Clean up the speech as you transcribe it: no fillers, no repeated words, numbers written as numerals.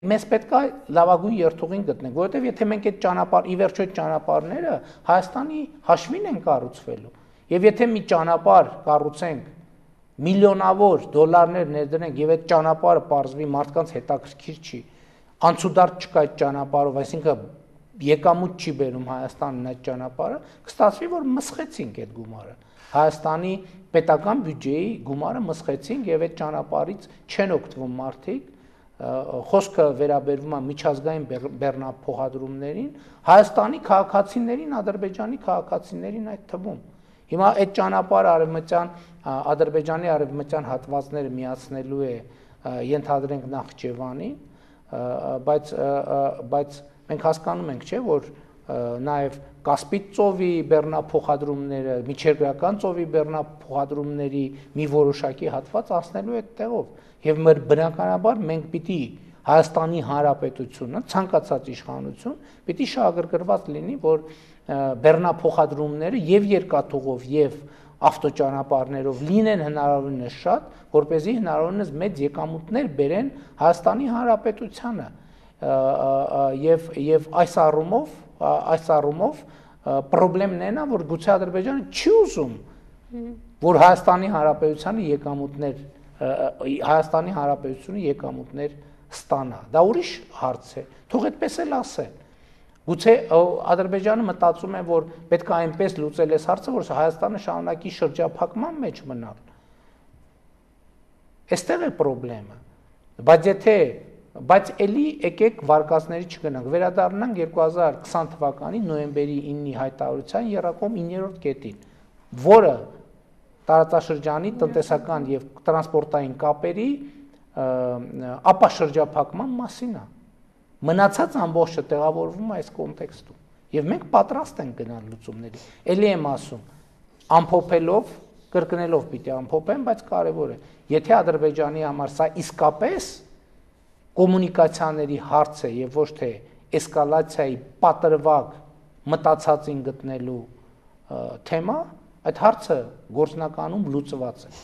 Մեզ պետք է լավագույն երթուղին գտնենք, որովհետև եթե մենք այդ ճանապարհ, ի վերջո այդ ճանապարհները Հայաստանի հաշվին են կառուցվելու, եւ եթե մի ճանապարհ կառուցենք, միլիոնավոր դոլարներ ներդնենք եւ այդ ճանապարհը պարզվի մարդկանց հետաքրքիր չի, անցուդարձ չկա այդ ճանապարհով, այսինքն եկամուտ չի բերում Հայաստանն այդ ճանապարհը, կստացվի, որ մսխեցինք այդ գումարը։ Հայաստանի պետական բյուջեի գումարը մսխեցինք եւ այդ ճանապարհից չեն օգտվում մարդիկ, խոսքը վերաբերվում է միջազգային բեռնափոխադրումներին, Հայաստանի քաղաքացիներին, Ադրբեջանի քաղաքացիներին այդ թվում։ Հիմա այդ ճանապարհը Ադրբեջանի արևմտյան հատվածները միացնելու է, ենթադրենք Նախճեվանին, բայց մենք հասկանում ենք, չէ, որ նաև Կասպից ծովի բեռնափոխադրումները, միջերկրական ծովի բեռնափոխադրումների մի որոշակի հատված անցնելու այդ տեղով, եւ մեր բնականաբար մենք պիտի Հայաստանի Հանրապետությունը, ցանկացած իշխանություն պիտի շահագրգռված լինի, որ բեռնափոխադրումները եւ երկաթուղով եւ ավտոճանապարհներով լինեն հնարավորինս շատ, որպեսզի հնարավորինս մեծ եկամուտներ բերեն Հայաստանի Հանրապետությանը եւ այս առումով պրոբլեմն է նա, որ գուցե Ադրբեջանը չի ուզում, որ Հայաստանի Հանրապետությունը եկամուտներ ստանա։ Դա ուրիշ հարց է։ Թող այդպես էլ ասեն։ Գուցե Ադրբեջանը մտածում է, որ պետք է այնպես լուծել այս հարցը, որ Հայաստանը շարունակի շրջափակման մեջ մնալ։ Այստեղ է պրոբլեմը։ Բայց էլի եկեք վարկածների չգնանք, վերադառնանք 2020 թվականի նոյեմբերի 9-ի հայտարարության եռակողմ 9-րդ կետին, որը տարածաշրջանի տնտեսական եւ տրանսպորտային կապերի ապաշրջափակման մասին է։ Մնացած ամբողջը տեղավորվում է այս կոնտեքստում, եւ մենք պատրաստ ենք գնալ լուծումների։ Էլի եմ ասում, ամփոփելով, կրկնելով պիտի ամփոփեմ, բայց կարեւոր է, եթե Ադրբեջանի համար սա իսկապես կոմունիկացիաների հարց է եւ ոչ թե էսկալացիայի պատրվակ մտածածին գտնելու թեմա, այդ հարցը գործնականում լուծված է։